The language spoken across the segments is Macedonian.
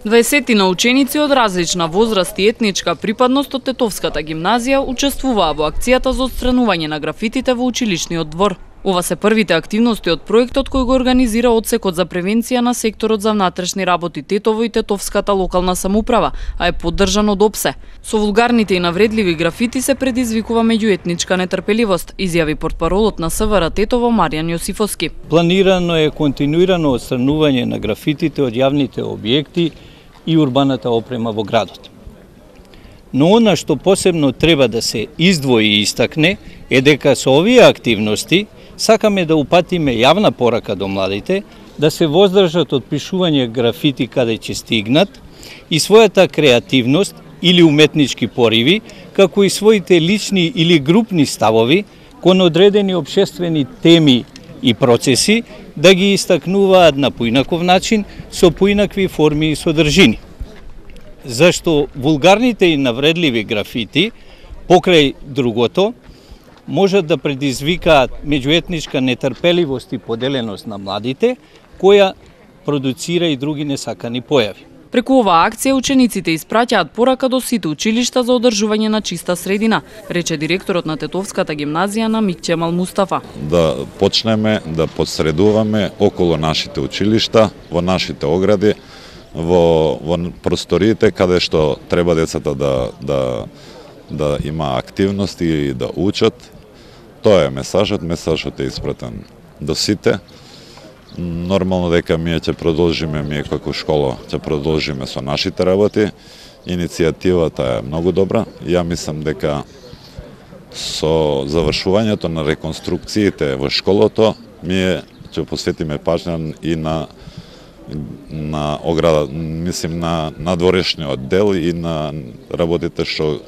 20 ученици од различна возраст и етничка припадност од Тетовската гимназија учествуваа во акцијата за отстранување на графитите во училишниот двор. Ова се првите активности од проектот кој го организира Одсекот за превенција на секторот за внатрешни работи Тетово и Тетовската локална самоуправа, а е поддржан од ОПСЕ. Со вулгарните и навредливи графити се предизвикува меѓуетничка нетрпеливост, изјави портпаролот на СВР Тетово Маријан Јосифовски. Планирано е континуирано отстранување на графитите од јавните објекти и урбаната опрема во градот. Но она што посебно треба да се издвои и истакне е дека со овие активности сакаме да упатиме јавна порака до младите да се воздржат од пишување графити каде ќе стигнат и својата креативност или уметнички пориви, како и своите лични или групни ставови кон одредени општествени теми и процеси да ги истакнуваат на поинаков начин со поинакви форми и содржини. Зашто вулгарните и навредливи графити покрај другото можат да предизвикаат меѓуетничка нетрпеливост и поделеност на младите, која продуцира и други несакани појави. Преку оваа акција учениците испраќаат порака до сите училишта за одржување на чиста средина, рече директорот на Тетовската гимназија на Микчемал Мустафа. Да почнеме да подсредуваме околу нашите училишта, во нашите огради, во просториите каде што треба децата да има активности и да учат. Тоа е месажот е испратен до сите. Нормално дека ние како школа ќе продолжиме со нашите работи. Иницијативата е многу добра. Ја мислам дека со завршувањето на реконструкциите во школото ние ќе посветиме паžnја и на ограда, мислим на надворешниот дел и на работите што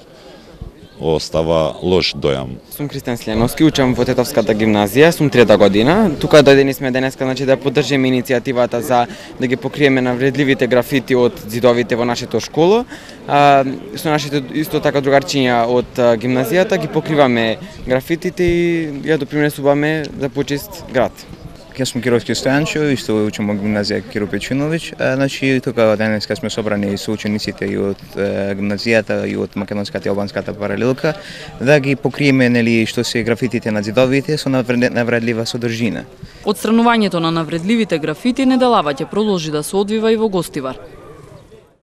остава лош дојам. Сум Кристијан Сленовски, учам во Тетовската гимназија, сум 3-та година. Тука дојдени сме денеска, да поддржиме иницијативата за да ги покриеме навредливите графити од зидовите во нашето школо. Со нашите исто така другарчиња од гимназијата ги покриваме графитите и ја допринесуваме за почист град. Јас сум Кировски Стојанчо, исто учам во гимназија Киро Печиновиќ. Тука денеска сме собрани со учениците и од гимназијата и од македонската и албанската паралелка да ги покриеме што се графитите на зидовите со навредлива содржина. Отстранувањето на навредливите графити неделава ќе продолжи да се одвива и во Гостивар.